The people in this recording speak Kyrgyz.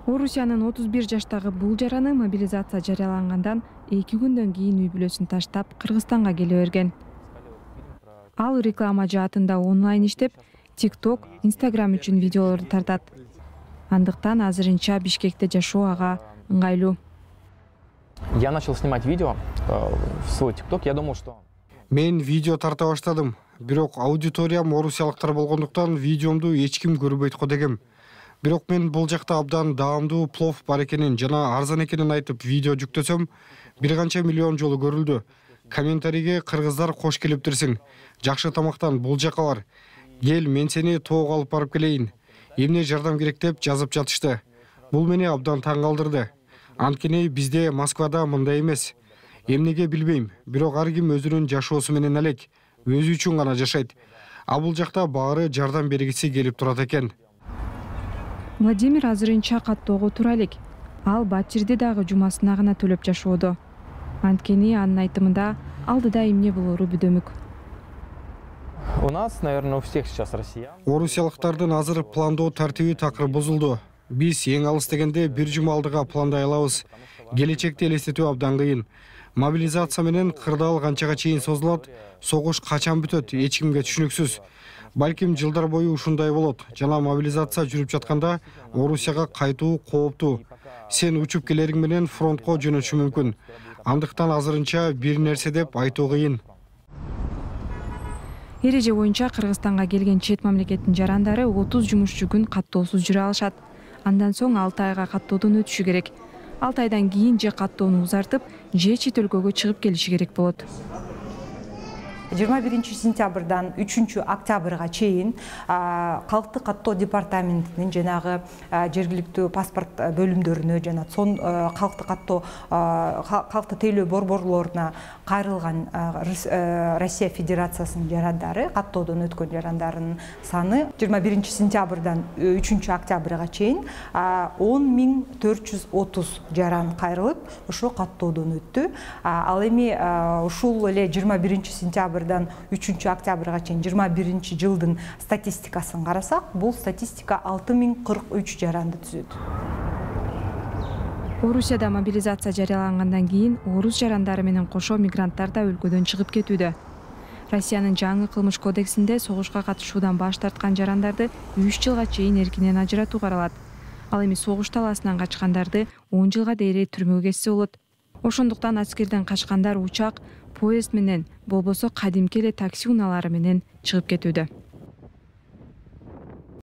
Орусиянын 31 жаштагы бул жараны мобилизация жарыялангандан 2 күндөн кийин үй бүлөсүн таштап Кыргызстанга келе берген. Ал реклама жаатында онлайн иштеп, TikTok, Instagram үчүн видеолорду тартат. Андыктан азырынча Бишкекте жашоо ага ыңгайлуу. Я начал снимать видео в свой TikTok. Я думал, что мен видео тарта баштадым. Бирок аудиториям орусиялыктар болгондуктан видеомду эч ким көрбөйт го дегем. Бирок мен бул жакта абдан даамдуу плов бар экенин жана арзан экенин айтып видео жүктөсөм, бир канча миллион жолу көрүлдү. Комментарийге кыргыздар кош келиптирсиң. Жакшы тамактан бул жака бар. Кел, мен сени тоого алып барып келейин. Эмне жардам керек деп жазып жатышты. Бул мени абдан таң калтырды. Анткени бизде Москвада мындай эмес. Эмнеге билбейм, бирок ар ким өзүнүн жашоосу менен элек, өзү үчүн гана жашайт. А бул жакта баары жардам бергиси келип турат экен. Владимир азырынча каттоого тура элек. Ал батирди дагы жумасына гана төлөп жашоодо. Анткени анын айтымында алдыда эмне болору бүдөмүк. у нас, наверное, у всех сейчас россиян. Орусиялыктардын азыр пландоо тартиби такыр бузулду. Биз эң алыс дегенде бир жума алдыга пландай алабыз. Келечекти элестетүү абдан кыйын. Мобилизация менен кырдаал канчага чейин созулат, согуш качан бүтөт, эч кимге түшүнүксүз. Балким жылдар бою ушундай болот. Жана мобилизация жүрүп жатканда Орусияга кайтуу кооптуу. Сен учуп келериң менен фронтко жөнөшү мүмкүн. Андыктан азырынча бир нерсе деп айтуу кыйын. Эреже боюнча Кыргызстанга келген чет мамлекеттин жарандары 30 жумушчу күн каттоосуз жүрө алышат. Андан соң 6 айга каттоодон өтүшү керек. 6 айдан кийин же каттоону узартып, же чет өлкөгө чыгып келиши керек болот. 21 сентябрдан 3 октябрга чейин калктык каттоо департаментинин жанагы жергиликтүү паспорт бөлүмдөрүнө жана сон калктык каттоо калкты тейлөө борборлоруна кайрылган Россия Федерациясынын жарандары, каттоодон өткөн жарандардын саны 21 сентябрдан 3 октябрга чейин 10.430 жаран кайрылып, ошо каттоодон өттү. Ал эми ушул эле 21 сентябрдан 3 октябрга чейин 21 жылдын статистикасын карасак, бул статистика 6043 жаранды түзөт. Орусияда мобилизация жарыялангандан кийин орус жарандары менен кошо мигранттар да өлкөдөн чыгып кетүүдө. Россиянын жаңы кылмыш кодексинде согушка катышуудан баш тарткан жарандарды 3 жылга чейин эркинен ажыратуу каралат. Ал эми согуш талаасынан качкандарды 10 жылга дейре түрмөгө кессе болот. Ошондуктан аскерден качкандар учак, поезд менен, болбосо кадимки эле такси унаалары менен чыгып кетүүдө.